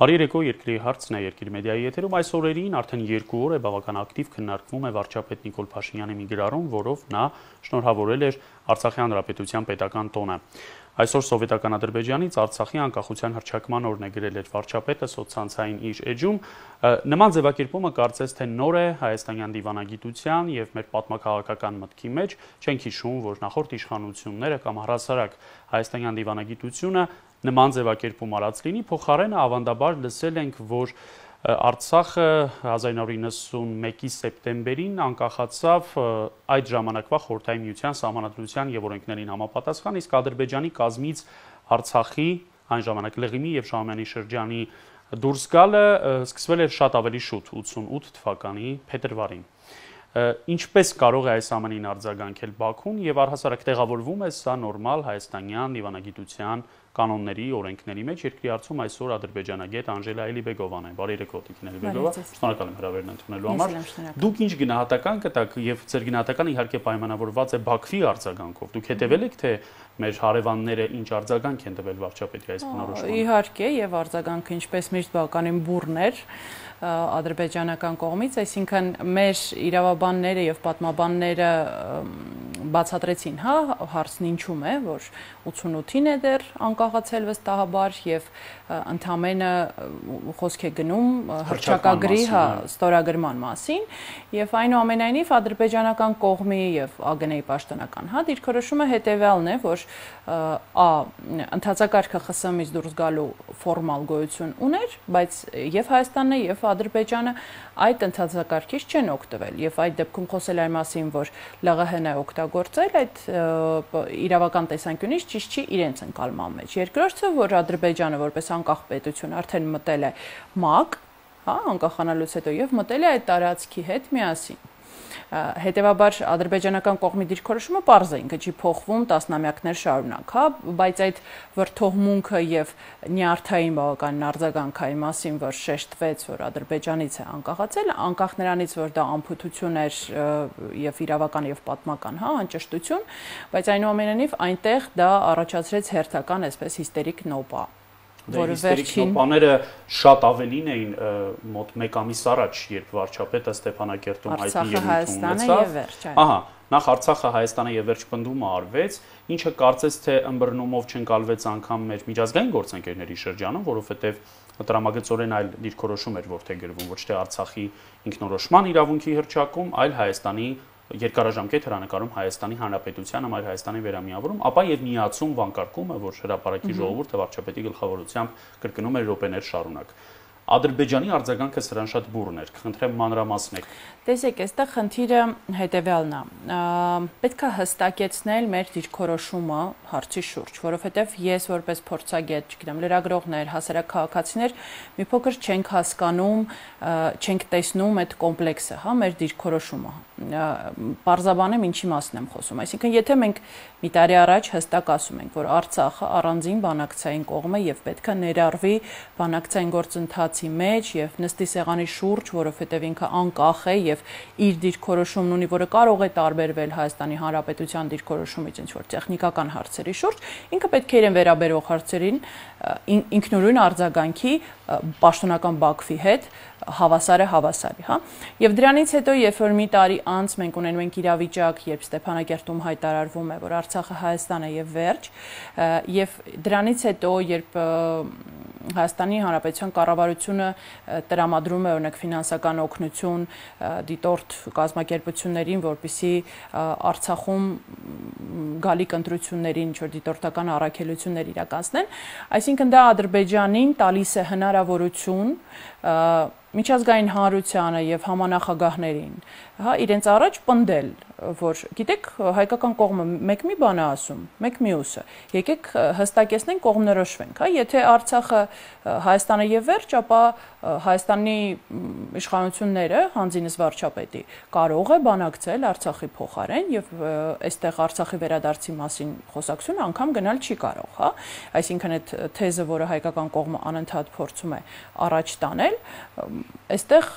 Բարի երեկո, Երկրի հարցն է Երկիր մեդիայի եթերում այս օրերին արդեն 2 օր է բավական ակտիվ քննարկվում է վարչապետ Նիկոլ Փաշինյանի մի գրառում, որով նա շնորհավորել էր Արցախի հանրապետության պետական տոնը։ Այսօր սովետական Ադրբեջանից Արցախի անկախության հռչակման օրն է գրել էր վարչապետը սոցցանցային իր էջում։ Նման ձևակերպումը կարծես թե նոր է հայաստանյան դիվանագիտության եւ մեր պատմաքաղաքական մտքի մեջ, չենք հիշում, որ նախորդ իշխանությունները կամ առհասարակ հայաստանյան դիվանագիտությունը նման ձևակերպում արած լինի, փոխարենը ավանդաբար լսել ենք, որ Արցախը 1991-ի սեպտեմբերին անկախացավ այդ ժամանակվա Խորհրդային Միության Սահմանադրության եւ օրենքներին համապատասխան, իսկ Ադրբեջանի կազմից Արցախի այն ժամանակ Լղիմի եւ Շահումյանի շրջանի դուրս գալը սկսվել էր շատ ավելի շուտ, 88 թվականի փետրվարին։ Ինչպես կարող է այս ամենին արձագանքել Բաքուն եւ առհասարակ տեղավորվում է սա նորմալ հայաստանյան դիվանագիտության կանոնների, օրենքների մեջ Երկրի հարցում այսօր ադրբեջանագետ Անժելա Էլիբեգովան է։ Բարի երեկո, Տիկին Էլիբեգովա, շնորհակալ եմ հրավերն ընդունելու համար։ Դուք ինչ գնահատական կտաք եւ ձեր գնահատականը իհարկե պայմանավորված է Բաքվի արձագանքով։ Դուք հետեւել եք թե մեր հարևանները ինչ արձագանք են տվել վարչապետի այս բնորոշմանը։ Իհարկե, եւ արձագանքը ինչպես միշտ բավականին բուռն էր ադրբեջանական կողմից, այսինքն մեր իրավաբանները եւ պատմաբանները բացատրեցին, հարցն ինչու՞մ է, որ 88-ին է դեռ անկախացել վստահաբար եւ ընդամենը խոսք է գնում հռչակագրի ստորագրման մասին եւ այնուամենայնիվ ադրբեջանական կողմի եւ ԱԳՆ-ի պաշտոնական դիրքորոշումը հետեւյալն է, որ ընդհանցակարգը ԽՍՀՄ-ից դուրս գալու ֆորմալ գոյություն ուներ, բայց եւ Հայաստանն է եւ Ադրբեջանը այդ ընդհանցակարգից չեն օգտվել եւ այդ դեպքում խոսել այն մասին, որ ԼՂՀ-ն է օգտագործել այդ իրավական տեսանկյունից ճիշտ չի իրենց ընկալման մեջ։ Երկրորդը, որ Ադրբեջանը որպես անկախ պետություն արդեն մտել է ՄԱԿ, անկախանալուց հետո եւ մտել է այդ տարածքի հետ միասին։ Հետևաբար ադրբեջանական կողմի դիրքորոշումը պարզ է, ինքը չի փոխվում տասնամյակներ շարունակ, բայց այդ վրթովմունքը եւ նյարդային բավական արձագանքային մասին, որ շեշտվեց, որ Ադրբեջանից է անկախացել, անկախ նրանից, որ դա անփութություն էր եւ իրավական եւ պատմական, անճշտություն, բայց այնուամենայնիվ այնտեղ դա առաջացրեց հերթական, այսպես հիստերիկ նոպա։ Որը վերջին նոպաները շատ ավելին էին մոտ 1 ամիս առաջ, երբ վարչապետը Ստեփանակերտում հայտնի ելույթ ունեցավ։ Ահա, նախ Արցախը, Հայաստանը եւ վերջ պնդումը արվեց, ինչը կարծես թե ըմբռնումով չընկալվեց անգամ մեր միջազգային գործընկերների շրջանում, որովհետեւ տրամագծորեն այլ դիրքորոշում էր որթե գրվում, ոչ թե Արցախի ինքնորոշման իրավունքի հռչակում, այլ Հայաստանի երկարաժամկետ հրանակարում Հայաստանի Հանրապետությանը, այլ Հայաստանի վերամիավորում, ապա եւ միացում վանկարկումը, որ հրապարակի ժողովուրդը վարչապետի գլխավորությամբ կրկնում էր րոպեներ շարունակ։ Ադրբեջանի արձագանքը սրան շատ բուռն էր, խնդրեմ մանրամասնեք։ Տեսեք, այստեղ խնդիրը հետեւյալն է։ Պետք է հստակեցնել մեր դիրքորոշումը հարցի շուրջ, որովհետեւ ես որպես փորձագետ, չգիտեմ, լրագրողներ, հասարակ քաղաքացիներ մի փոքր չենք հասկանում, չենք տեսնում այդ կոմպլեքսը, մեր դիրքորոշումը։ Պարզաբանեմ ինչի մասին եմ խոսում։ Այսինքն, եթե մենք մի տարի առաջ հստակ ասում ենք, որ Արցախը առանձին բանակցային կողմ է եւ պետք է ներառվի բանակցային գործընթացի մեջ եւ նստի սեղանի շուրջ, որովհետեւ ինքը անկախ է եւ իր դիրքորոշումն ունի, որը կարող է տարբերվել Հայաստանի Հանրապետության դիրքորոշումից ինչ որ տեխնիկական հարցերի շուրջ, ինքը պետք է իրեն վերաբերող հարցերին ինքնուրույն արձագանքի պաշտոնական Բաքվի հետ հավասարը հավասարի, Եվ դրանից հետո, երբ որ մի տարի անց մենք ունենում ենք իրավիճակ, երբ Ստեփանակերտում հայտարարվում է, որ Արցախը Հայաստան է եւ վերջ, եւ դրանից հետո, երբ Հայաստանի Հանրապետության կառավարությունը տրամադրում է օրինակ ֆինանսական օգնություն դիտորդ կազմակերպություններին, որպեսզի Արցախում գալիք ընտրություններին ինչ որ դիտորդական առաքելություններ իրականացնեն, այսինքն դա Ադրբեջանին տալիս է հնարավորություն միջազգային հանրությանը եւ համանախագահներին, իրենց առաջ պնդել, որ գիտեք, հայկական կողմը մեկ մի բան է ասում, մեկ մյուսը։ Եկեք հստակեցնենք, կողմնորոշվենք, Եթե Արցախը Հայաստանը եւ վերջ, ապա Հայաստանի իշխանությունները, հանձինս վարչապետի, կարող է բանակցել Արցախի փոխարեն եւ այստեղ Արցախի վերադարձի մասին խոսակցությունը անգամ գնալ չի կարող, Այսինքն այդ թեզը, որը հայկական կողմը անընդհատ փորձում է առաջ տանել, այստեղ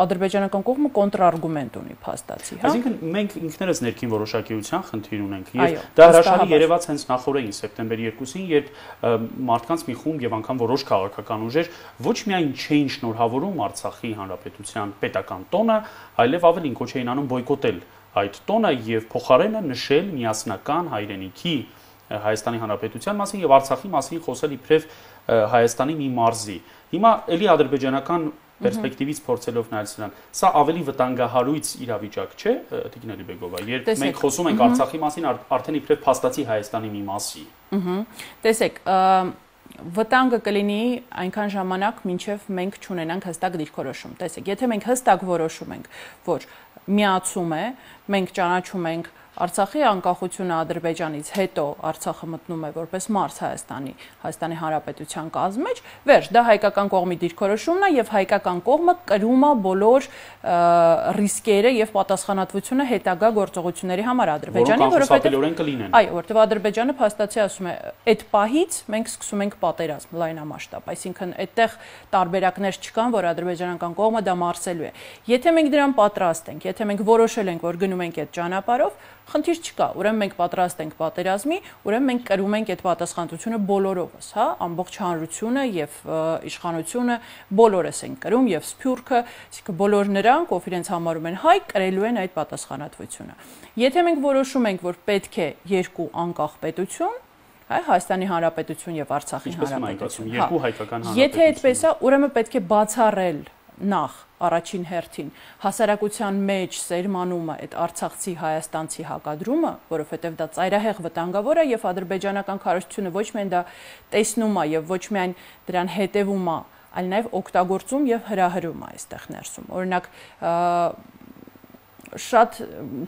ադրբեջանական կողմը կոնտրարգումենտ ունի փաստացի, Այսինքն մենք ինքներս ներքին որոշակիության խնդիր ունենք եւ դա հրաշալի երևաց հենց նախորդին սեպտեմբերի 2-ին, երբ մարդկանց մի խումբ եւ անգամ որոշ քաղաքական ուժեր ոչ միայն չէին շնորհավորում Արցախի հանրապետության պետական տոնը, այլև ավելին կոչ էին անում բոյկոտել այդ տոնը եւ փոխարենը նշել միասնական հայրենիքի Հայաստանի Հանրապետության մասին եւ Արցախի մասին խոսել իբրև Հայաստանի մի մարզի։ Հիմա էլի ադրբեջանական պերսպեկտիվից փորձելով նայել սրան, սա ավելի վտանգահարույց իրավիճակ չէ, Տիկին Ալիբեգովա, երբ մենք խոսում ենք Արցախի մասին, արդեն իբրև փաստացի Հայաստանի մի մասի։ Տեսեք, վտանգը կլինի այնքան ժամանակ, մինչև մենք չունենանք հստակ դիրքորոշում։ Տեսեք, եթե մենք հստակ որոշում ենք, որ միացում է, մենք ճանաչում ենք Արցախի անկախությունը Ադրբեջանից հետո Արցախը մտնում է որպես մարզ Հայաստանի Հանրապետության կազմի մեջ, վերջ, դա հայկական կողմի դիրքորոշումն է եւ հայկական կողմը կրում է բոլոր ռիսկերը եւ պատասխանատվությունը հետագա գործողությունների համար Ադրբեջանի, այո, որովհետեւ Ադրբեջանը փաստացի ասում է, այդ պահից մենք սկսում ենք պատերազմ լայնամասշտաբ, այսինքն այդտեղ տարբերակներ չկան, որ ադրբեջանական կողմը դա մարսելու է։ Եթե մենք դրան պատրաստ ենք, եթե մենք որոշել ենք, որ գնում ենք այդ ճանապարհով, խնդիր չկա, ուրեմն մենք պատրաստ ենք պատերազմի, ուրեմն մենք կրում ենք այդ պատասխանատվությունը բոլորովս, հա, ամբողջ հանրությունը եւ իշխանությունը բոլորս են կրում եւ Սփյուռքը, այսինքն բոլոր նրանք, ով իրենց համարում են հայ, կրելու են այդ պատասխանատվությունը։ Եթե մենք որոշում ենք, որ պետք է երկու անկախ պետություն, Հայաստանի Հանրապետություն եւ Արցախի Հանրապետություն, երկու հայկական հանրապետություն։ Եթե այդպես է, ուրեմն պետք է բացառել նախ առաջին հերթին հասարակության մեջ սերմանումը այդ արցախցի հայաստանցի հակադրումը, որովհետև դա ծայրահեղ վտանգավոր է եւ ադրբեջանական քարոզությունը ոչ միայն դա տեսնում է եւ ոչ միայն դրան հետևում է, այլ նաեւ օգտագործում եւ հրահրում է այստեղ ներսում։ Օրինակ շատ,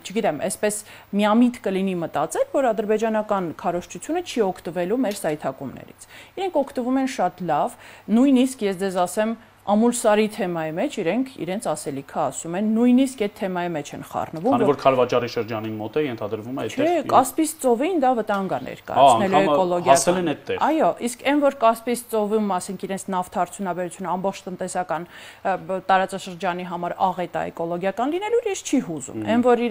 չգիտեմ, այսպես միամիտ կլինի մտածել, որ ադրբեջանական քարոզչությունը չի օգտվելու մեր սայթակումներից։ Իրենք օգտվում են շատ լավ, նույնիսկ ես ձեզ ասեմ Ամուլսարի թեմայի մեջ իրենք իրենց ասելիքը ասում են, նույնիսկ այդ թեմայի մեջ են խառնվում, քանի որ Քալվաճարի շրջանին մոտ է ենթադրվում է այդտեղ։ Չէ, Կասպից ծովին դա վտանգ է ներկայացնելու էկոլոգիական։ Ասել են այդտեղ։ Այո, իսկ այն որ Կասպից ծովում, ասենք իրենց նավթարդյունաբերությունը ամբողջ տնտեսական տարածաշրջանի համար աղետ է էկոլոգիական լինելու, իրենց չի հուզում։ Այն որ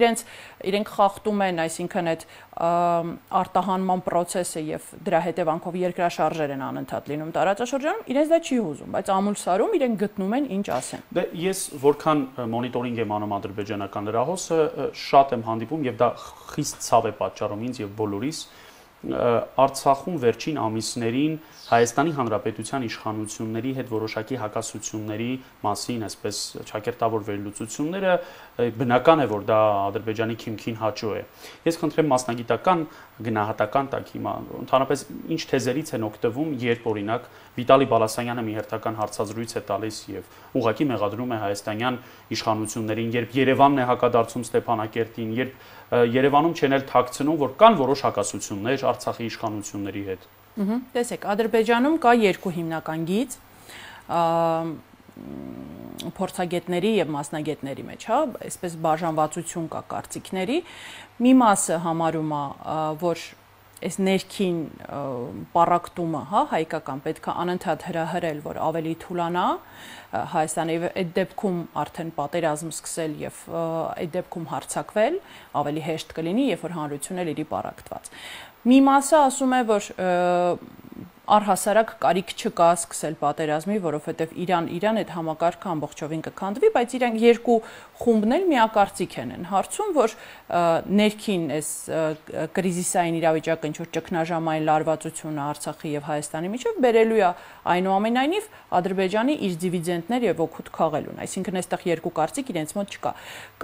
իրենք խախտում են, այսինքն այդ արտահանման process-ը եւ դրա հետևանքով երկրաշարժեր են անընդհատ լինում տարածաշրջանում, իրենց դա չի հուզում, բայց Ամուլսարում իրենք գտնում են ինչ ասեն։ Դե ես որքան մոնիտորինգ եմ անում ադրբեջանական լրահոսը, շատ եմ հանդիպում եւ դա խիստ ցավ է պատճառում ինձ եւ բոլորիս Արցախում վերջին ամիսներին Հայաստանի Հանրապետության իշխանությունների հետ որոշակի հակասությունների մասին, այսպես ճակերտավոր վերլուծությունները բնական է, որ դա Ադրբեջանի քիմքին հաճո է։ Ես խնդրեմ մասնագիտական գնահատական տակ հիմա ընդհանրապես ինչ թեզերից են օգտվում, երբ օրինակ Վիտալի Բալասանյանը մի հերթական հարցազրույց է տալիս եւ ուղղակի մեղադրում է հայաստանյան իշխանություններին, երբ Երևանն է հակադարձում Ստեփանակերտին, երբ Երևանում չեն էլ թաքցնում, որ կան որոշ հակասություններ Արցախի իշխանությունների հետ։ Տեսեք, Ադրբեջանում կա երկու հիմնական գիծ փորձագետների եւ մասնագետների մեջ, հա, այսպես բաժանվածություն կա կարծիքների։ Մի մասը համարում է, որ այս ներքին պարակտումը, հա, հայկական պետք է անընդհատ հրահրել, որ ավելի թուլանա Հայաստանի այդ դեպքում արդեն պատերազմ սկսել եւ այդ դեպքում հարձակվել, ավելի հեշտ կլինի, երբ որ հանրությունը լրի պարակտված։ Մի մասը ասում է, որ առհասարակ կարիք չկա սկսել պատերազմի, որովհետև Իրան այդ համակարգը ամբողջովին կքանդվի, բայց իրենք երկու խումբն էլ միակարծիք են հարցում, որ ներքին այս կրիզիսային իրավիճակը, ինչ որ ճգնաժամային լարվածությունը Արցախի եւ Հայաստանի միջև բերելու է այնուամենայնիվ Ադրբեջանի իր դիվիդենդներ եւ օգուտ քաղելուն, այսինքն այստեղ երկու կարծիք իրենց մոտ չկա։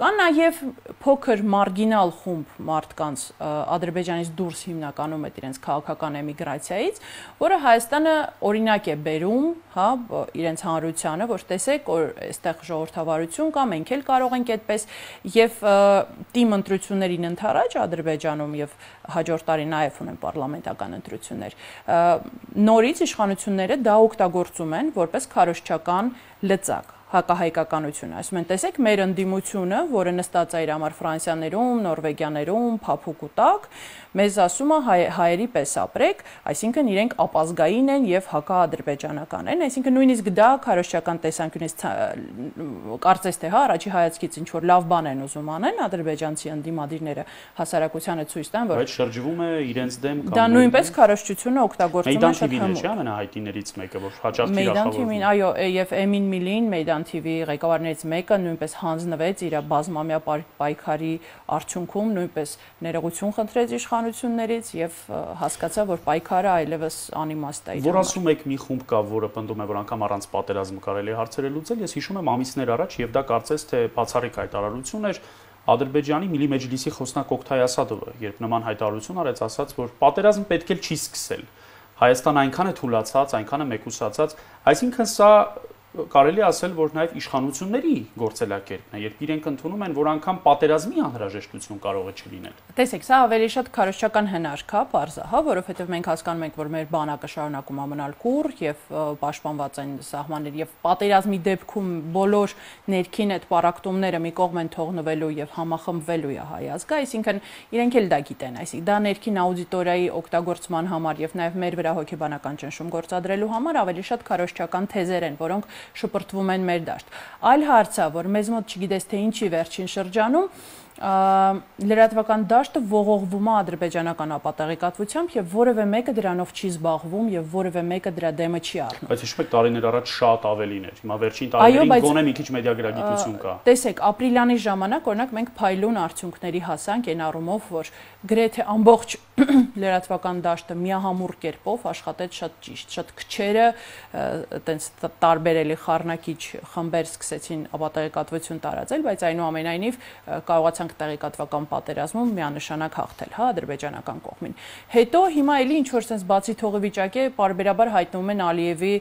Կա նաեւ փոքր մարգինալ խումբ մարդկանց Ադրբեջանից դուրս հիմնականում այդ իրենց քաղաքական էմիգրացիայից, որը Հայաստանը օրինակ է բերում, հա, իրենց հանրությանը, որ տեսեք, որ այստեղ ժողովրդավարություն կա, մենք էլ կարող ենք այդպես եւ թիմ ընտրություններին ընդառաջ Ադրբեջանում եւ հաջորդ տարի նաեւ ունեն պարլամենտական ընտրություններ։ Նորից իշխանությունները դա օգտագործում են որպես քարոզչական լծակ, հակահայկականությունը։ Ասում են, տեսեք, մեր ընդդիմությունը, որը նստած է իր համար Ֆրանսիաներում, Նորվեգիաներում, փափուկ ու տաք, մեզ ասում է հայերի պես ապրեք, այսինքն իրենք ապազգային են եւ հակաադրբեջանական են, այսինքն նույնիսկ դա քարոզչական տեսանկյունից կարծես թե առաջի հայացքից ինչ որ լավ բան են ուզում անեն ադրբեջանցի ընդդիմադիրները հասարակությանը ցույց տան, որ բայց շրջվում է իրենց դեմ կամ դա նույնպես քարոզչությունը օգտագործում է շատ հմուտ։ Չէ՞ ամենահայտնիներից մեկը, որ հաճախ թիրախավորվում։ Այո, եւ Էմին Միլին, Մեյդան TV ղեկավարներից մեկը նույնպես հանձնվեց իր բազմամյա պայքարի արդյունքում, նույնպես ներողություն խնդրեց իշխանություններից եւ հասկացա, որ պայքարը այլևս անիմաստ է։ Որ ասում եք մի խումբ կա, որը պնդում է, որ անգամ առանց պատերազմ կարելի է հարցերը լուծել, ես հիշում եմ ամիսներ առաջ եւ դա կարծես թե բացառիկ հայտարարություն էր Ադրբեջանի Միլի Մեջլիսի խոսնակ Օկթայ Ասադովը, երբ նման հայտարարություն արեց, ասաց, որ պատերազմ պետք է չի սկսել։ Հայաստանը այնքան է թուլացած, այնքան է մեկուսացած, այսինքն սա կարելի ասել, որ նաև իշխանությունների գործելակերպն է, երբ իրենք ընդունում են, որ անգամ պատերազմի անհրաժեշտություն կարող է չլինել։ Տեսեք, սա ավելի շատ քարոզչական հնարք է, պարզա, հա, որովհետև մենք հասկանում ենք, որ մեր բանակը շարունակում է մնալ կուռ եւ պաշտպանված են սահմաններ եւ պատերազմի դեպքում բոլոր ներքին այդ պարակտումները մի կողմ են թողնվելու եւ համախմբվելու է հայ ազգը, այսինքն իրենք էլ դա գիտեն, այսինքն դա ներքին աուդիտորիայի օգտագործման համար եւ նաեւ մեր վրա հոգեբանական ճնշում գործադրելու համար ավելի շատ քարոզչական թեզեր են, որոնք շպրտվում են մեր դաշտ։ Այլ հարց է, որ մեզ մոտ չգիտես թե ինչի վերջին շրջանում լրատվական դաշտը ողողվում է ադրբեջանական ապատեղեկատվությամբ եւ որևէ մեկը դրանով չի զբաղվում եւ որևէ մեկը դրա դեմը չի առնում։ Բայց հիշում եք տարիներ առաջ շատ ավելին էր։ Հիմա վերջին տարիներին գոնե մի քիչ մեդիագրագիտություն կա։ Տեսեք, ապրիլյանի ժամանակ օրինակ մենք փայլուն արդյունքների հասանք այն առումով, որ գրեթե ամբողջ լրատվական դաշտը միահամուռ կերպով աշխատեց շատ ճիշտ, շատ քչերը այտենց տարբերելի խառնակիչ խմբեր սկսեցին ապատեղեկատվություն տարածել, բայց այնուամենայնիվ կարողացանք տեղեկատվական պատերազմում միանշանակ հաղթել, հա, ադրբեջանական կողմին։ Հետո հիմա էլի ինչ որ sense բացի թողի վիճակ է, պարբերաբար հայտնվում են Ալիևի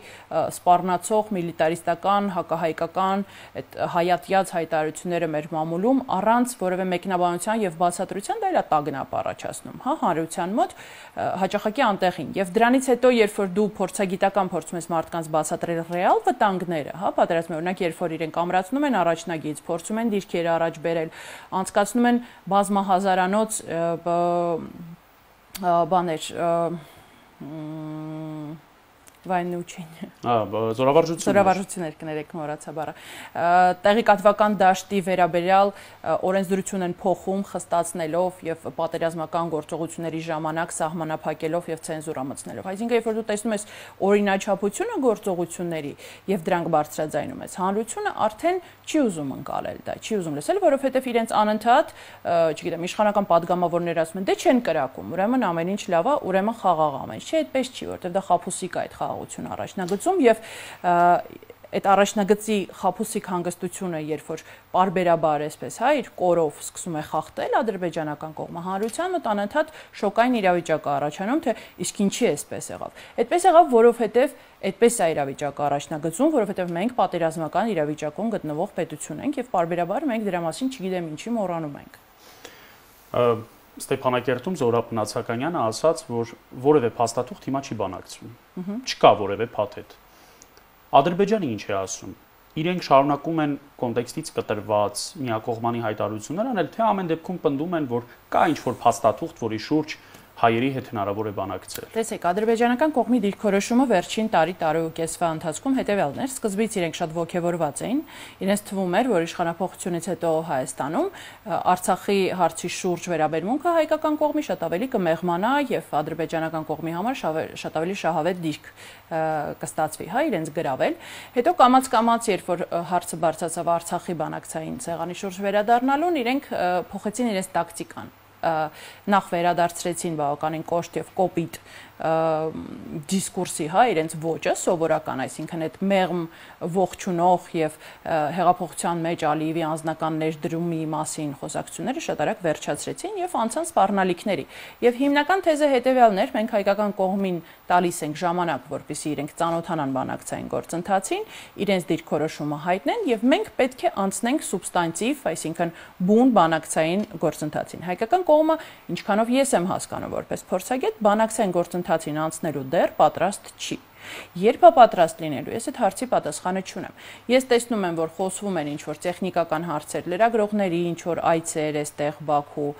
սպառնացող միլիտարիստական, հակահայկական այդ հայատյաց հայտարարությունները մեր մամուլում առանց որևէ մեկնաբանության եւ բացատրության, դա իրա տագնապ առաջացնում, հա, հանրության մոտ հաճախակի անտեղին։ Եվ դրանից հետո, երբ որ դու փորձագիտական փորձում ես մարդկանց բացատրել ռեալ վտանգները, հա, պատերազմի օրինակ, երբ որ իրենք ամրացնում են առաջնագիծ, փորձում են դիրքերը առաջ բերել, անցկացնում են բազմահազարանոց բաներ վայնուչին զորավարժություններ կներեք մոռացա բառը տեղեկատվական դաշտի վերաբերյալ օրենսդրություն են փոխում խստացնելով եւ պատերազմական գործողությունների ժամանակ սահմանափակելով եւ ցենզուրա մտցնելով այսինքն երբ որ դու տեսնում ես օրինաչափությունը գործողությունների եւ դրանք բարձրաձայնում ես հանրությունը արդեն չի ուզում ընկալել դա չի ուզում լսել որովհետեւ իրենց անընդհատ չգիտեմ իշխանական падգամավորներ ասում են դե չեն կրակում ուրեմն ամեն ինչ լավ է ուրեմն խաղաղ ամեն ինչ չէ այդպես չի որովհետեւ դա խափուսիկ է այդ առաջնագծում եւ այդ առաջնագծի խափուսիկ հանգստությունը երբ որ պարբերաբար այսպես հա իր կորով սկսում է խախտել ադրբեջանական կողմը հանրության մոտ անընդհատ շոկային իրավիճակ է առաջանում թե իսկ ինչի էսպես եղավ այդպես եղավ որովհետեւ այդպես է իրավիճակը առաջնագծում որովհետեւ մենք պատերազմական իրավիճակում գտնվող պետություն ենք եւ պարբերաբար մենք դրա մասին չգիտեմ ինչի մոռանում ենք Ստեփանակերտում Զորապ Նացականյանը ասաց, որ որևէ փաստաթուղթ հիմա չի բանակցվում։ Չկա որևէ փաթեթ։ Ադրբեջանը ինչ է ասում։ Իրենք շարունակում են կոնտեքստից կտրված միակողմանի հայտարարություններ անել, թե ամեն դեպքում պնդում են, որ կա ինչ-որ փաստաթուղթ, որի շուրջ հայերի հետ հնարավոր է բանակցել։ Տեսեք, ադրբեջանական կողմի դիրքորոշումը վերջին տարի ու կեսվա ընթացքում հետևյալն էր։ Սկզբից իրենք շատ ողջավորված էին։ Իրենց թվում էր, որ իշխանապողությունից հետո Հայաստանում Արցախի հարցի շուրջ վերաբերմունքը հայկական կողմի շատ ավելի կմեղմանա եւ ադրբեջանական կողմի համար շատ ավելի շահավետ դիրք կստացվի, հա, իրենց գրավել։ Հետո կամաց-կամաց, երբ որ հարցը բարձրացավ Արցախի բանակցային ցեղանի շուրջ վերադառնալուն, իրենք փոխեցին իրենց տակտիկան։ Նախ վերադարձրեցին բավականին կոշտ եւ կոպիտ դիսկուրսի, հա, իրենց ոճը սովորական, այսինքն այդ մեղմ ողջունող եւ հեղափոխության մեջ Ալիևի անձնական ներդրումի մասին խոսակցությունները շատ արագ վերջացրեցին եւ անցան սպառնալիքների։ Եվ հիմնական թեզը հետեւյալն էր, մենք հայկական կողմին տալիս ենք ժամանակ, որպեսզի իրենք ծանոթանան բանակցային գործընթացին, իրենց դիրքորոշումը հայտնեն եւ մենք պետք է անցնենք սուբստանտիվ, այսինքն բուն բանակցային գործընթացին։ Հայկական կողմը, ինչքանով ես եմ հասկանում որպես փորձագետ, բանակցային գործընթացին անցնելու դեռ պատրաստ չի։ Երբ է պատրաստ լինելու, ես այդ հարցի պատասխանը չունեմ։ Ես տեսնում եմ, որ խոսվում են ինչ-որ տեխնիկական հարցեր, լրագրողների ինչ-որ այցեր այստեղ Բաքու,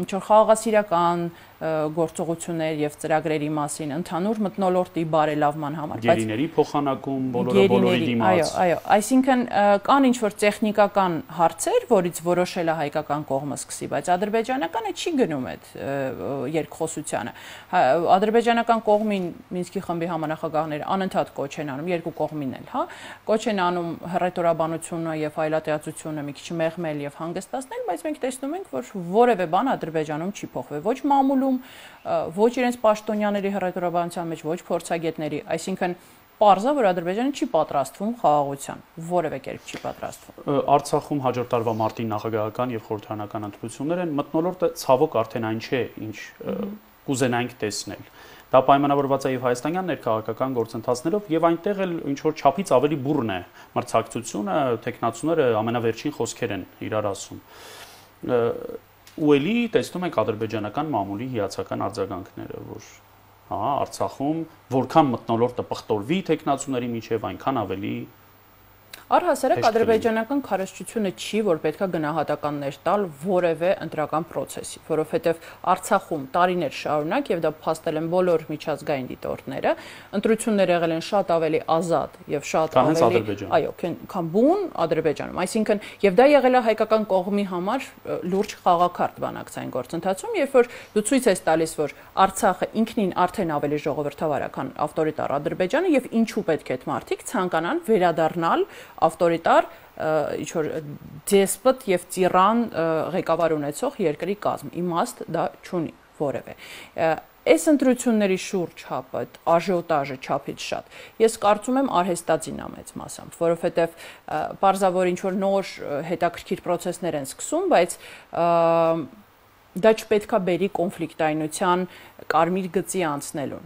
ինչ-որ խաղաղասիրական գործողություններ եւ ծրագրերի մասին, ընդհանուր մթնոլորտի բարելավման համար, բայց գերիների փոխանակում բոլորի դիմաց։ Այո, այսինքն կան ինչ-որ տեխնիկական հարցեր, որից որոշել է հայկական կողմը սկսի, բայց ադրբեջանականը չի գնում այդ երկխոսությանը։ Ադրբեջանական կողմին Մինսկի խմբի համանախագահները անընդհատ կոչ են անում, երկու կողմին էլ, կոչ են անում հռետորաբանությունը եւ այլատիացությունը մի քիչ մեղմել եւ հանգստացնել, բայց մենք տեսնում ենք, որ որևէ բան Ադրբեջանում չի փոխվել, ոչ մամուլում, ոչ իրենց պաշտոնյաների հռետորաբանության մեջ, ոչ փորձագետների, այսինքն պարզ է, որ Ադրբեջանը չի պատրաստվում խաղաղության, որևէ կերպ չի պատրաստվում։ Արցախում հաջորդ տարվա մարտի նախագահական եւ խորհրդարանական ընտրություններ են, մթնոլորտը ցավոք արդեն այն չէ, ինչ կուզենայինք տեսնել։ Դա պայմանավորված է եւ հայաստանյան ներքաղաքական գործընթացներով եւ այնտեղ էլ ինչ որ չափից ավելի բուռն է մրցակցությունը, տեխնացուները ամենավերջին խոսքեր են իրար ասում։ Ու էլի տեսնում ենք ադրբեջանական մամուլի հիացական արձագանքները, որ Արցախում որքան մթնոլորտը պղտորվի տեխնացուների միջև, այնքան ավելի Առհասարակ ադրբեջանական քարոզչությունը չի, որ պետքա գնահատականներ տալ որևէ ընտրական process-ի, որովհետև Արցախում տարիներ շարունակ եւ դա փաստել են բոլոր միջազգային դիտորդները, ընտրությունները եղել են շատ ավելի ազատ եւ շատ ավելի, այո, քան բուն Ադրբեջանում, այսինքն եւ դա եղել է հայկական կողմի համար լուրջ խաղակարդ բանակցային գործընթացում, երբ որ դու ցույց ես տալիս, որ Արցախը ինքնին արդեն ավելի ժողովրդավար է, քան ավտորիտար Ադրբեջանը եւ ինչու պետք է այդ մարդիկ ցանկանան վերադառնալ ավտորիտար ինչ-որ դեսպոտ եւ տիրան ղեկավար ունեցող երկրի կազմ, իմաստ դա չունի որևէ։ Այս ընտրությունների շուրջ հապը, աժիոտաժը չափից շատ։ Ես կարծում եմ արհեստածին է մեծ մասամբ, որովհետեւ պարզավոր ինչ-որ նոր հետաքրքիր process-ներ են սկսում, բայց դա չպետքա բերի կոնֆլիկտայնության կարմիր գծի անցնելուն,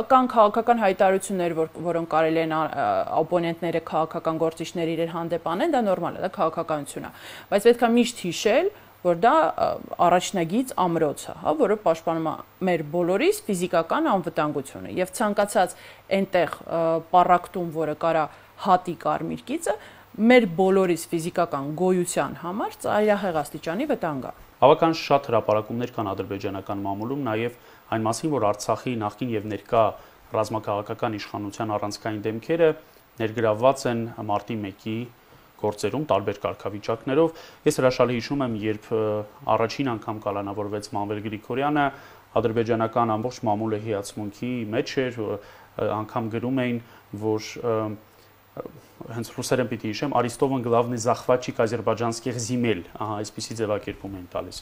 կան քաղաքական հայտարարություններ, որոնք կարելի են օպոնենտները քաղաքական գործիչների իրար հանդեպ անեն, դա նորմալ է, դա քաղաքականություն է, բայց պետքա միշտ հիշել, որ դա առաջնագիծ ամրոց է, որը պաշտպանում է մեր բոլորիս ֆիզիկական անվտանգությունը եւ ցանկացած այնտեղ պարակտում, որը կարա հատի կարմիր գիծը, մեր բոլորիս ֆիզիկական գոյության համար ծայրահեղ աստիճանի վտանգ է։ Բավական շատ հրապարակումներ կան ադրբեջանական մամուլում նաև այն մասին, որ Արցախի նախկին եւ ներկա ռազմաքաղաքական իշխանության առանցքային դեմքերը ներգրավված են մարտի 1-ի գործերում տարբեր կարգավիճակներով։ Ես հրաշալի հիշում եմ, երբ առաջին անգամ կալանավորվեց Մանվել Գրիգորյանը, ադրբեջանական ամբողջ մամուլը հիացմունքի մեջ էր, անգամ գրում էին, որ հենց ռուսերեն պիտի հիշեմ, Արիստովան главный захватчик азербайджанских земель, այսպիսի ձևակերպում են տալիս։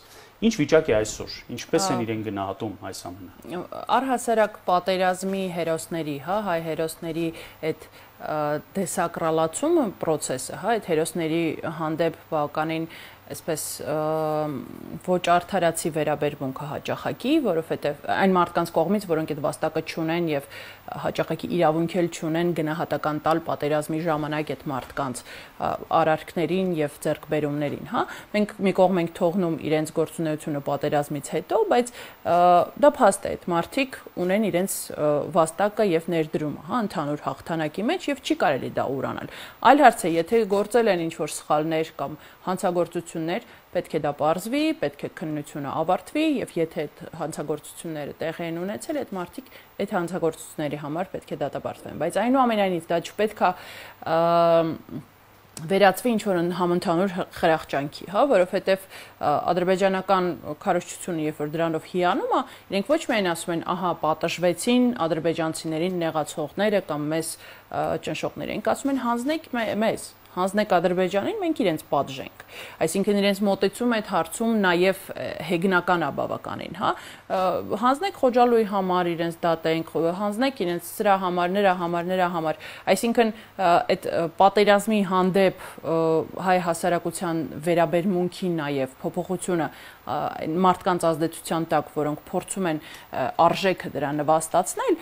Ինչ վիճակ է այսօր, ինչպես են իրեն գնահատում այս ամենը։ Առհասարակ պատերազմի հերոսների, հայ հերոսների այդ դեսակրալացումը process-ը, այդ հերոսների հանդեպ բավականին այսպես ոչ արդարացի վերաբերմունքը հաճախակի, որովհետև այն մարդկանց կողմից, որոնք այդ վաստակը չունեն եւ հաճախակի իրավունք էլ չունեն գնահատական տալ պատերազմի ժամանակ այդ մարդկանց արարքներին եւ ձեռքբերումներին, Մենք մի կողմ ենք թողնում իրենց գործունեությունը պատերազմից հետո, բայց դա փաստ է, այդ մարդիկ ունեն իրենց վաստակը եւ ներդրումը, ընդհանուր հաղթանակի մեջ եւ չի կարելի դա ուրանալ։ Այլ հարց է, եթե գործել են ինչ-որ սխալներ կամ հանցագործություններ, պետք է դա պարզվի, պետք է քննությունը ավարտվի եւ եթե այդ հանցագործությունները տեղի են ունեցել, այդ մարդիկ այդ հանցագործությունների համար պետք է դատապարտվեն, բայց այնուամենայնիվ դա չպետք է վերածվի ինչ-որ համընդհանուր խրախճանքի, որովհետև ադրբեջանական քարոզչությունը, երբ որ դրանով հիանում է, իրենք ոչ միայն ասում են, ահա պատժվեցին ադրբեջանցիներին նեղացողները կամ մեզ ճնշողները, իրենք ասում են հանձնեք մեզ, հանձնեք Ադրբեջանին, մենք իրենց պատժենք։ Այսինքն իրենց մոտեցում այդ հարցում նաև հեգնական է բավականին, հանձնեք Խոջալույի համար իրենց դատենք, հանձնեք իրենց սրա համար, նրա համար, այսինքն այդ պատերազմի հանդեպ հայ հասարակության վերաբերմունքի նաև փոփոխությունը մարդկանց ազդեցության տակ, որոնք փորձում են արժեքը դրա նվաստացնել,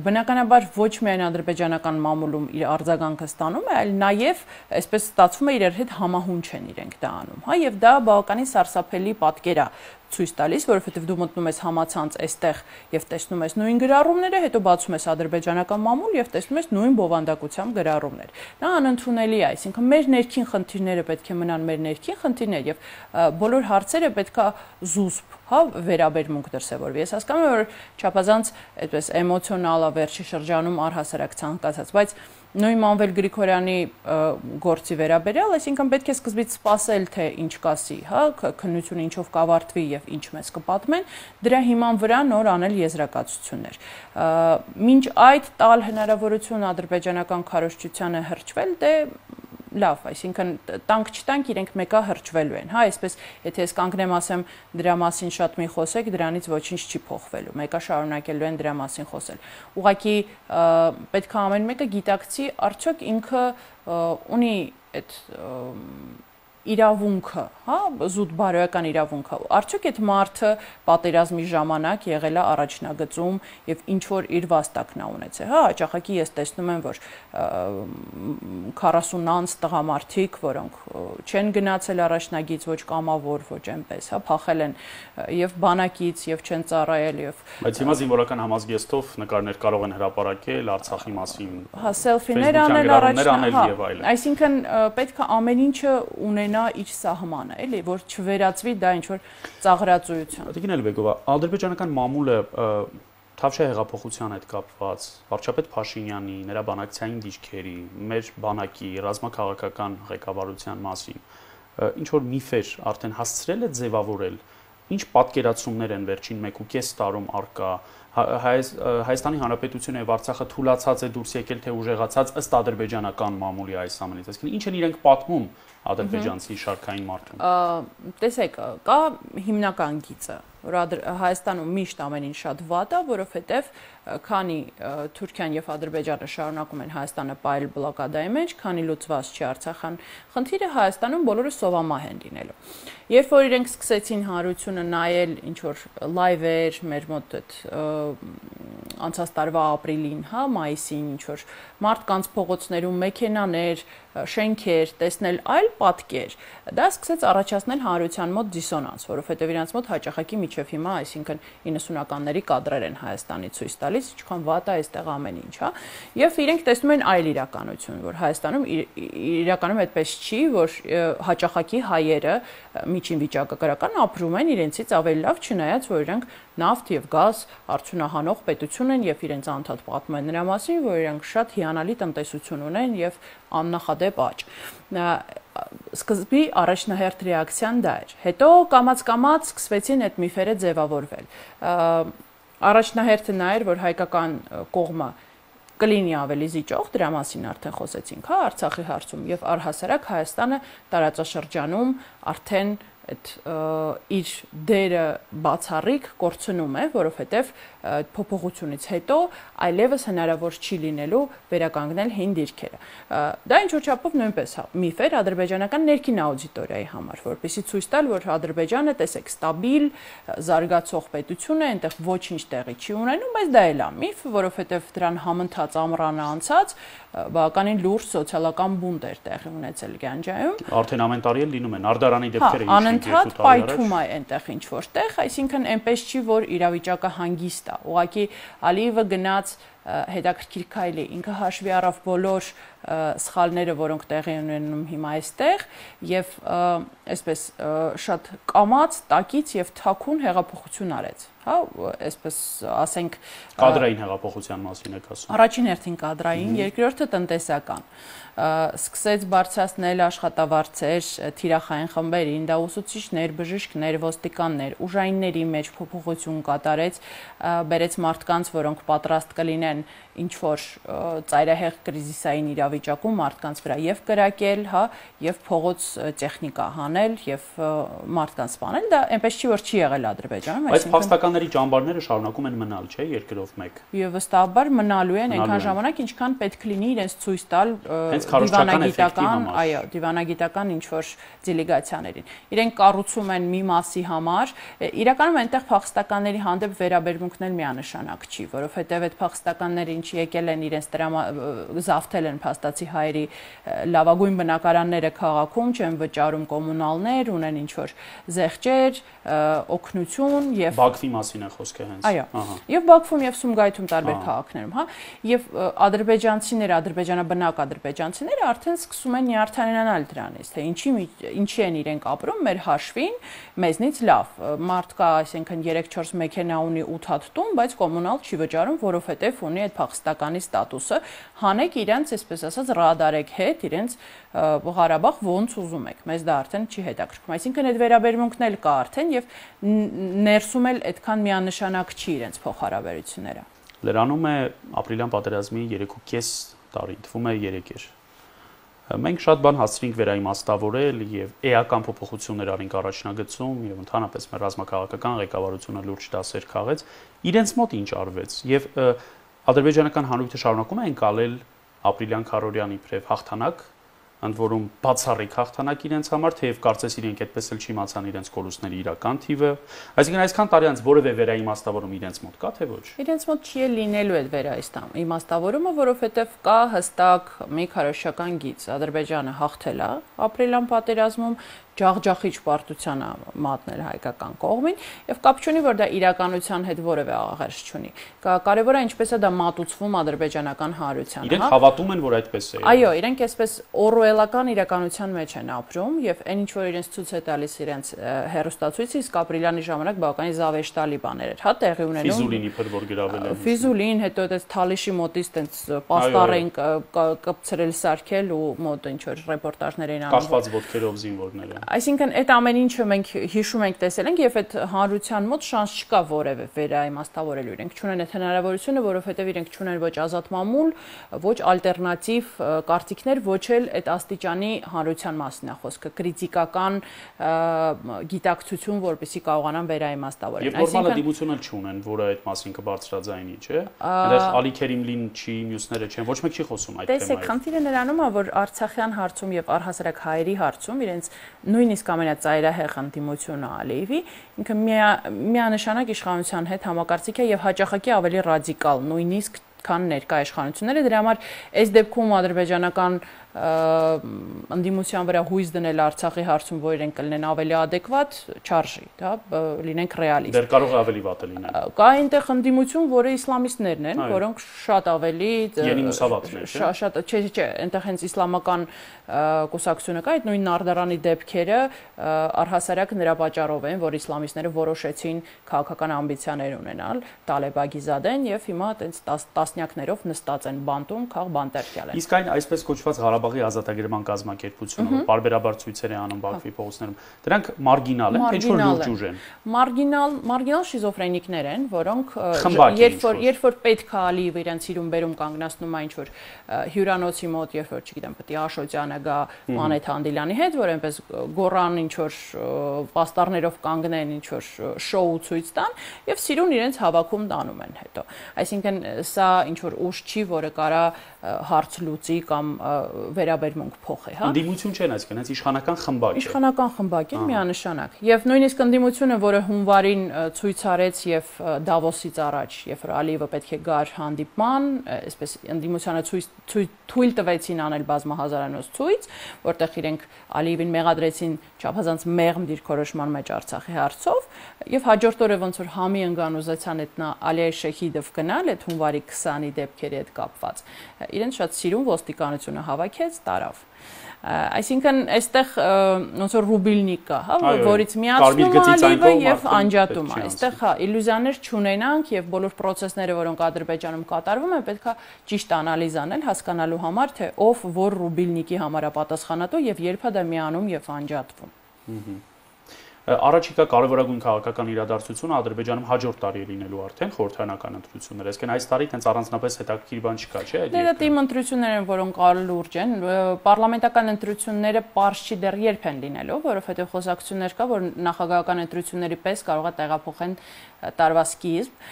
բնականաբար ոչ միայն ադրբեջանական մամուլում իր արձագանքը ստանում է, այլ նաև այսպես ստացվում է իրար հետ համահունչ են իրենք դա անում, հա, եւ դա բավականին սարսափելի պատկեր է ցույց տալիս, որովհետեւ դու մտնում ես համացանց այստեղ եւ տեսնում ես նույն գրառումները, հետո բացում ես ադրբեջանական մամուլ եւ տեսնում ես նույն բովանդակությամբ գրառումներ։ Դա անընդունելի է, այսինքն մեր ներքին խնդիրները պետք է մնան մեր ներքին խնդիրներ եւ բոլոր հարցերը պետքա զուսպ, հա, վերաբերմունք դրսևորվի։ Ես հասկանում եմ, որ չափազանց այդպես էմոցիոնալ է վերջի շրջանում առհասարակ ցանկացած, բայց նույն Մանվել Գրիգորյանի գործի վերաբերյալ, այսինքն պետք է սկզբից սպասել, թե ինչ կասի, հա, քննությունը ինչով կավարտվի եւ ինչ մեզ կպատմեն, դրա հիման վրա նոր անել եզրակացություններ։ Մինչ այդ տալ հնարավորություն ադրբեջանական քարոզչությանը հրճվել, դե լավ, այսինքն տանք չտանք իրենք մեկա հրճվելու են, հա, այսպես եթե ես կանգնեմ ասեմ դրա մասին շատ մի խոսեք, դրանից ոչինչ չի փոխվելու, մեկա շարունակելու են դրա մասին խոսել։ Ուղղակի պետք է ամեն մեկը գիտակցի, արդյոք ինքը ունի այդ իրավունքը, հա, զուտ բարոյական իրավունքը, արդյոք այդ մարդը պատերազմի ժամանակ եղել է առաջնագծում եւ ինչ որ իր վաստակն է ունեցել, հա, հաճախակի ես տեսնում եմ, որ 40-անց տղամարդիկ, որոնք չեն գնացել առաջնագից ոչ կամավոր, ոչ այնպես, հա, փախել են եւ բանակից եւ չեն ծառայել եւ Բայց հիմա զինվորական համազգեստով նկարներ կարող են հրապարակել Արցախի մասին, հա, սելֆիներ անել առաջնահերթ, այսինքն պետք է ամեն ինչը ունենա իր սահմանը, էլի, որ չվերածվի դա ինչ որ ծաղրածույության։ Տիկին Էլբեգովա, ադրբեջանական մամուլը Թավշյա հեղափոխության հետ կապված, վարչապետ Փաշինյանի, նրա բանակցային դիրքերի, մեր բանակի ռազմաքաղաքական ղեկավարության մասին, ինչ որ միֆեր արդեն հասցրել է ձևավորել, ինչ պատկերացումներ են վերջին 1.5 տարում արկա, Հայաստանի Հանրապետությունը եւ Արցախը թուլացած է դուրս եկել թե ուժեղացած ըստ ադրբեջանական մամուլի այս ամենից, այսինքն ինչ են իրենք պատմում ադրբեջանցի շարքային մարդուն։ Տեսեք, կա հիմնական գիծը, որ Հայաստանում միշտ ամեն ինչ շատ վատ է, որովհետեւ քանի Թուրքիան եւ Ադրբեջանը շարունակում են Հայաստանը պայել բլոկադայի մեջ, քանի լուծված չի Արցախյան խնդիրը, Հայաստանում բոլորը սովամահ են լինելու։ Երբ որ իրենք սկսեցին հանրությունը նայել ինչ որ լայվեր, մեր մոտ այդ անցած տարվա ապրիլին, հա, մայիսին ինչ որ մարդկանց փողոցներում մեքենաներ, շենքեր, տեսնել այլ պատկեր, դա սկսեց առաջացնել հանրության մոտ դիսոնանս, որովհետև իրանց մոտ հաճախակի միջև հիմա, այսինքն 90-ականների կադրեր են Հայաստանի ցույց տալիս, ինչքան վատ է այստեղ ամեն ինչ, հա, եւ իրենք տեսնում են այլ իրականություն, որ Հայաստանում իրականում այդպես չի, որ հաճախակի հայերը միջին վիճակագրական ապրում են իրենցից ավելի լավ, չնայած որ իրենք նավթ եւ գազ արդյունահանող պետություն են եւ իրենց անդադ պատմում են նրա մասին, որ իրենք շատ հիանալի տնտեսություն ունեն եւ աննախադեպ աճ։ Սկզբի առաջնահերթ ռեակցիան դա էր։ Հետո կամաց-կամաց սկսվեցին այդ միֆերը ձևավորվել։ Առաջնահերթը նա էր, որ հայկական կողմը կլինի ավելի զիջող, դրա մասին արդեն խոսեցինք, հա, Արցախի հարցում եւ առհասարակ Հայաստանը տարածաշրջանում արդեն այդ իր դերը բացառիկ կորցնում է, որովհետև փոփոխությունից հետո այլևս հնարավոր չի լինելու վերականգնել հին դիրքերը։ Դա ինչ որ չափով նույնպես միֆ էր ադրբեջանական ներքին աուդիտորիայի համար, որպեսզի ցույց տալ, որ Ադրբեջանը, տեսեք, ստաբիլ, զարգացող պետություն է, այնտեղ ոչինչ տեղի չի ունենում, բայց դա էլ է միֆ, որովհետև դրան համընթաց ամռանը անցած բավականին լուրջ սոցիալական բունտ էր տեղի ունեցել Գանջայում։ Արդեն ամեն տարի էլ լինում են Արդարանի դեպքերը, անընդհատ պայթում է այնտեղ ինչ որտեղ, այսինքն այնպես չի, որ իրավիճակը հանգիստ է։ Ուղղակի Ալիևը գնաց հետաքրքիր քայլի, ինքը հաշվի առավ բոլոր սխալները, որոնք տեղի ունենում հիմա այստեղ եւ այսպես շատ կամաց, տակից եւ թաքուն հեղափոխություն արեց, հա, այսպես ասենք կադրային հեղափոխության մասին եք ասում։ Առաջին հերթին կադրային, երկրորդը տնտեսական։ Սկսեց բարձրացնել աշխատավարձեր թիրախային խմբերին, դա ուսուցիչներ, բժիշկներ, ոստիկաններ, ուժայինների մեջ փոփոխություն կատարեց, բերեց մարդկանց, որոնք պատրաստ կլինեն ինչ որ ծայրահեղ կրիզիսային իրավիճակում մարդկանց վրա եւ կրակել, հա, եւ փողոց տեխնիկա հանել եւ մարդկանց սպանել, դա այնպես չի որ չի եղել Ադրբեջանում, բայց փախստականների ճամբարները շարունակում են մնալ, չէ, երկրով մեկ։ Եվ վստահաբար մնալու են այնքան ժամանակ, ինչքան պետք լինի իրենց ցույց տալ դիվանագիտական, այո, դիվանագիտական ինչ որ դելեգացիաներին։ Իրենք կառուցում են մի մասի համար, իրականում այնտեղ փախստականների հանդեպ վերաբերմունքն էլ միանշանակ չի, որովհետև այդ փախստական փախստականները ինչ եկել են իրենց զավթել են փաստացի հայերի լավագույն բնակարանները քաղաքում, չեն վճարում կոմունալներ, ունեն ինչ-որ զեղչեր, օգնություն եւ Բաքվի մասին է խոսքը հենց։ Այո։ Եվ Բաքվում եւ Սումգայիթում տարբեր քաղաքներում, հա, եւ ադրբեջանցիները, ադրբեջանաբնակ ադրբեջանցիները արդեն սկսում են նյարդայնանալ դրանից, թե ինչի են իրենք ապրում մեր հաշվին, մեզնից լավ։ Մարդ կա, այսինքն 3-4 մեքենա ունի 8 հատ տուն, բայց կոմունալ չի վճարում, որովհետեւ ունի այդ փախստականի ստատուսը, հանեք իրենց, այսպես ասած, ռադարեք հետ, իրենց Ղարաբաղ ոնց ուզում եք, մեզ դա արդեն չի հետաքրքրում։ Այսինքն այդ վերաբերմունքն էլ կա արդեն եւ ներսում էլ այդքան միանշանակ չի իրենց փոխհարաբերությունները։ Լրանում է ապրիլյան պատերազմի 3.5 տարի, թվում է 3 էր։ Մենք շատ բան հասցրինք վերաիմաստավորել եւ էական փոփոխություններ արինք առաջնագծում եւ ընդհանրապես մեր ռազմաքաղաքական ղեկավարությունը լուրջ դասեր քաղեց։ Իրենց մոտ ինչ արվեց եւ ադրբեջանական հանրույթը շարունակում է ընկալել ապրիլյան քարորյանի իբրև հաղթանակ, ընդ որում բացառիկ հաղթանակ իրենց համար, թեև կարծես իրենք այդպես էլ չիմացան իրենց կորուստների իրական թիվը, այսինքն այսքան տարի անց որևէ վերաիմաստավորում իրենց մոտ կա թե ոչ։ Իրենց մոտ չի լինելու այդ վերաիմաստավորումը, որովհետև կա հստակ մի քարոզչական գիծ։ Ադրբեջանը հաղթել է ապրիլյան պատերազմում, ջախջախիչ պարտության մատնել հայկական կողմին եւ կապ չունի որ դա իրականության հետ որևէ աղերս չունի։ Կարևորը ինչպես է դա մատուցվում ադրբեջանական հանրությանը, Իրենք հավատում են որ այդպես է։ Այո, իրենք այսպես օրուելական իրականության մեջ են ապրում եւ այն ինչ որ իրենց ցույց է տալիս իրենց հերոստացույցը իսկ ապրիլյանի ժամանակ բավականին զավեշտալի բաներ էր, հա, տեղի ունենում։ Ֆիզուլին իբր որ գրավել են։ Ֆիզուլին, հետո այդ Թալիշի մոտից տենց պաստառ են կպցրել սարքել ու մոտ ինչ որ ռեպորտաժներ էին անում։ Կախված ոտքերով զինվորները։ Այսինքն այդ ամեն ինչը մենք հիշում ենք, տեսել ենք եւ այդ հանրության մոտ շանս չկա որևէ վերաիմաստավորելու։ Իրենք չունեն այդ հնարավորությունը, որովհետեւ իրենք չունեն ոչ ազատ մամուլ, ոչ ալտերնատիվ կարծիքներ, ոչ էլ այդ աստիճանի հանրության մասին է խոսքը, քրիտիկական գիտակցություն, որպեսզի կարողանան վերաիմաստավորել։ Եվ նորմալ դիմություն էլ չունեն, որը այդ մասին կբարձրաձայնի, չէ՞։ Այնտեղ Ալի Քերիմլին չի, մյուսները չեն, ոչ մեկ չի խոսում այդ թեմայով։ Տեսեք, խնդիրը նրանում է, որ Արցախյան հարցում եւ առհասարակ հայերի հարցում իրենց նույնիսկ ամենածայրահեղ ընդդիմությունը Ալիևի ինքը միանշանակ իշխանության հետ համակարծիք է եւ հաճախակի ավելի ռադիկալ նույնիսկ քան ներկա իշխանությունները դրա համար այս դեպքում ադրբեջանական ընդդիմության վրա հույս դնել Արցախի հարցում, որ իրենք կլինեն ավելի adekvat, չարժի, դա լինենք ռեալիստ։ Դեռ կարող է ավելի վատը լինել։ Կա այնտեղ ընդդիմություն, որը իսլամիստներն են, որոնք շատ ավելի շատ չէ, այնտեղ հենց իսլամական կուսակցությունը կա, այդ նույն Նարդարանի դեպքերը առհասարակ նրա պատճառով են, որ իսլամիստները որոշեցին քաղաքական ամբիցիաներ ունենալ, Տալեբագիզադեն եւ հիմա այտենց տասնյակներով նստած են բանտում, քաղ բանտերքյալ են։ Իսկ այն այսպես կոչված Ղարաբաղի ազատագրման կազմակերպությունը, որ բարբերաբար ցույցեր է անում Բաքվի փողոցներում, դրանք մարգինալ են, ինչ որ լուրջ ուժ են։ Մարգինալ շիզոֆրենիկներ են, որոնք երբ որ պետք է Ալիև իրենց իրում բերում կանգնացնում է ինչ որ հյուրանոցի մոտ, երբ որ չգիտեմ, պետք է Աշոտյանը գա Մանեթ Հանդիլյանի հետ, որ այնպես գոռան ինչ որ պաստառներով կանգնեն, ինչ որ շոու ցույց տան եւ սիրուն իրենց հավաքում տանում են հետո։ Այսինքն սա ինչ որ ուժ չի, որը կարա հարց լուծի կամ վերաբերմունք փոխի, հա։ Ընդդիմություն չեն, այսինքն հենց իշխանական խմբակ է։ Իշխանական խմբակ է միանշանակ։ Եւ նույնիսկ ընդդիմությունը, որը հունվարին ցույց արեց եւ Դավոսից առաջ, երբ Ալիևը պետք է գար հանդիպման, այսպես ընդդիմությանը թույլ տվեցին անել բազմահազարանոց ցույց, որտեղ իրենք Ալիևին մեղադրեցին չափազանց մեղմ դիրքորոշման մեջ Արցախի հարցով, եւ հաջորդ օրը ոնց որ համի ընկան ուզեցան այդ Ալիայ Շեհիդով գնալ այդ հունվարի 20-ի դեպքերի հետ կապված։ Իրենց շատ սիրուն ոստիկանությունը հավաքեց, տարավ։ Այսինքն այստեղ ոնց որ ռուբիլնիկ կա, հա, որից միացնում է Ալիևը եւ անջատում է։ Այստեղ հա իլյուզիաներ չունենանք եւ բոլոր process-ները, որոնք Ադրբեջանում կատարվում են, պետքա ճիշտ անալիզ անել, հասկանալու համար, թե ով որ ռուբիլնիկի համար է պատասխանատու եւ երբ է դա միանում եւ անջատվում։ Առաջիկա կարևորագույն քաղաքական իրադարձությունը Ադրբեջանում հաջորդ տարի է լինելու արդեն խորհրդարանական ընտրություններ։ Այսինքն այս տարի տենց առանձնապես հետաքրքիր բան չկա, չէ՞։ Դա թիմ ընտրություններ են, որոնք լուրջ են։ Պարլամենտական ընտրությունները պարզ չի դեռ երբ են լինելու, որովհետև խոսակցություններ կա, որ նախագահական ընտրությունների պես կարող է տեղափոխեն տարվա սկիզբ,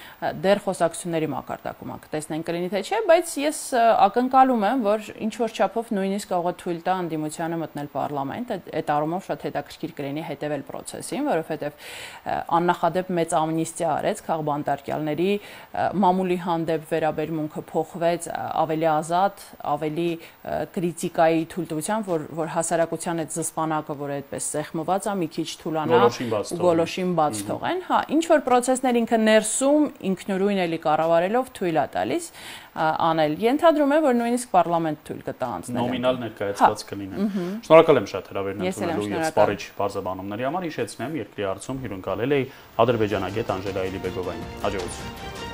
դեռ խոսակցությունների մակարդակում կտեսնենք կլինի թե չէ, բայց ես ակնկալում եմ, որ ինչ որ չափով նույնիսկ կարող է թույլ տա ընդդիմությանը մտնել պարլամենտ, այդ առումով շատ հետաքրքիր կլինի հետևել process process-ին, որովհետև աննախադեպ մեծ ամնիստիա արեց քաղբանտարկյալների մամուլի հանդեպ վերաբերմունքը փոխվեց ավելի ազատ, ավելի քրիտիկայի թույլտվությամբ, որ հասարակության այդ զսպանակը, որ այդպես սեղմված է, մի քիչ թուլանա ու գոլոշին բաց թողեն, հա, ինչ որ process-ներ ինքը ներսում ինքնուրույն էլի կառավարելով թույլ է տալիս անել։ Ենթադրում եմ, որ նույնիսկ պարլամենտ թույլ կտա անցնել։ Նոմինալ ներկայացված կլինեն։ Շնորհակալ եմ շատ հրավերն ընդունելու եւ սպառիչ բարձրաբանումների համար։ Հիշեցնեմ, երկրի հարցում հյուրընկալել էի ադրբեջանագետ Անժելա Էլիբեգովային։ Հաջողություն։